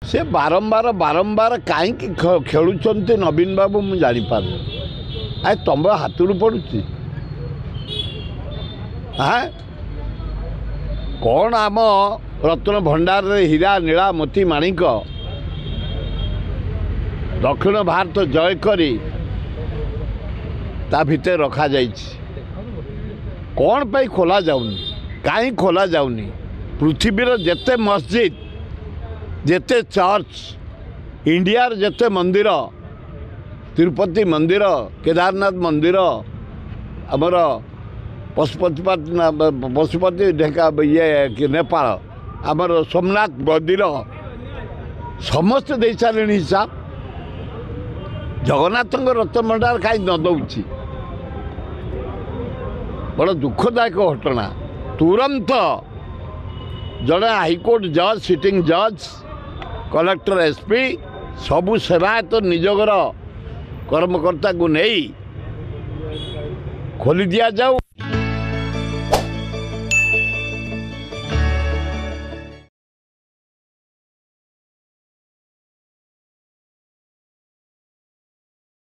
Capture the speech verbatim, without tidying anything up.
ସେ ବାରମ୍ବାର ବାରମ୍ବାର କାହିଁକି ଖେଳୁଛନ୍ତି ନବୀନ ବାବୁ ମୁଁ ଜାଣିପାରୁନି। ଆ ତମ ହାତରୁ ପଡ଼ୁଛି ଆଁ କ'ଣ? ଆମ ରତ୍ନ ଭଣ୍ଡାରରେ ହୀରା ନୀଳା ମୋତି ମାଣିକ ଦକ୍ଷିଣ ଭାରତ ଜୟ କରି ତା ଭିତରେ ରଖାଯାଇଛି, କ'ଣ ପାଇଁ ଖୋଲା ଯାଉନି? କାହିଁ ଖୋଲା ଯାଉନି? ପୃଥିବୀର ଯେତେ ମସଜିଦ୍, ଯେତେ ଚର୍ଚ୍ଚ, ଇଣ୍ଡିଆର ଯେତେ ମନ୍ଦିର, ତିରୁପତି ମନ୍ଦିର, କେଦାରନାଥ ମନ୍ଦିର, ଆମର ପଶୁପତି ପଶୁପତି ଢେଙ୍କା ଇଏ ନେପାଳ, ଆମର ସୋମନାଥ ମନ୍ଦିର, ସମସ୍ତେ ଦେଇସାରିଲେଣି ହିସାବ। ଜଗନ୍ନାଥଙ୍କ ରତ୍ନଭଣ୍ଡାର କାହିଁ ନ ଦେଉଛି? ବଡ଼ ଦୁଃଖଦାୟକ ଘଟଣା। ତୁରନ୍ତ ଜଣେ ହାଇକୋର୍ଟ ଜଜ୍, ସିଟିଂ ଜଜ୍, କଲେକ୍ଟର, ଏସ୍ ପି, ସବୁ ସେବାୟତ ନିଯୋଗର କର୍ମକର୍ତ୍ତାଙ୍କୁ ନେଇ ଖୋଲି ଦିଆଯାଉ।